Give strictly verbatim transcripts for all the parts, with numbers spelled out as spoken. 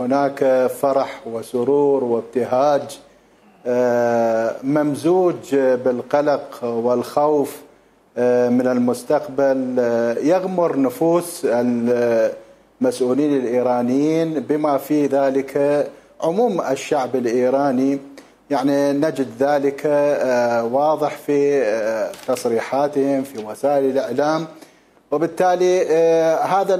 هناك فرح وسرور وابتهاج ممزوج بالقلق والخوف من المستقبل يغمر نفوس المسؤولين الإيرانيين بما في ذلك عموم الشعب الإيراني. يعني نجد ذلك واضح في تصريحاتهم في وسائل الإعلام، وبالتالي هذا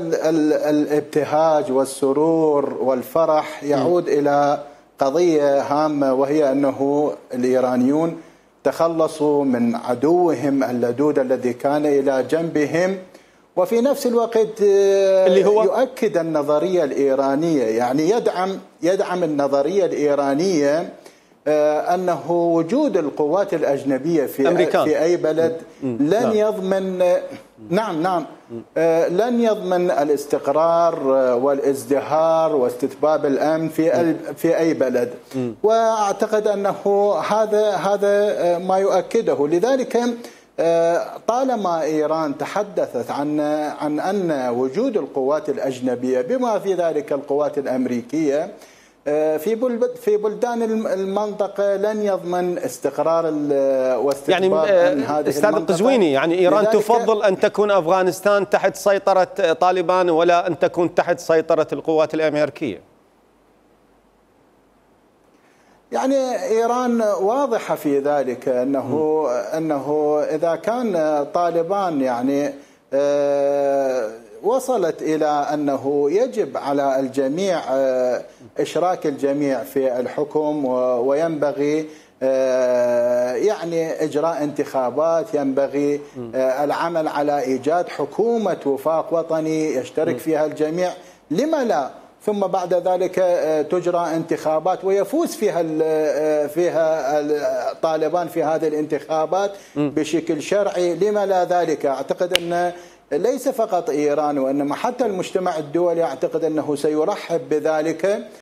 الابتهاج والسرور والفرح يعود إلى قضية هامة، وهي أنه الإيرانيون تخلصوا من عدوهم اللدود الذي كان إلى جنبهم، وفي نفس الوقت اللي هو يؤكد النظرية الإيرانية، يعني يدعم يدعم النظرية الإيرانية أنه وجود القوات الأجنبية في أمريكان. في أي بلد لن يضمن نعم نعم لن يضمن الاستقرار والازدهار واستتباب الأمن في في أي بلد، وأعتقد أنه هذا هذا ما يؤكده. لذلك طالما إيران تحدثت عن عن أن وجود القوات الأجنبية بما في ذلك القوات الأمريكية في في بلدان المنطقة لن يضمن استقرار واستقبال يعني هذه استاذ القزويني، يعني إيران تفضل أن تكون أفغانستان تحت سيطرة طالبان ولا أن تكون تحت سيطرة القوات الأمريكية. يعني إيران واضحة في ذلك أنه أنه إذا كان طالبان يعني وصلت إلى أنه يجب على الجميع إشراك الجميع في الحكم، وينبغي يعني إجراء انتخابات، ينبغي العمل على إيجاد حكومة وفاق وطني يشترك فيها الجميع، لما لا؟ ثم بعد ذلك تجرى انتخابات ويفوز فيها فيها طالبان في هذه الانتخابات بشكل شرعي، لما لا ذلك؟ أعتقد أن ليس فقط إيران وإنما حتى المجتمع الدولي أعتقد أنه سيرحب بذلك.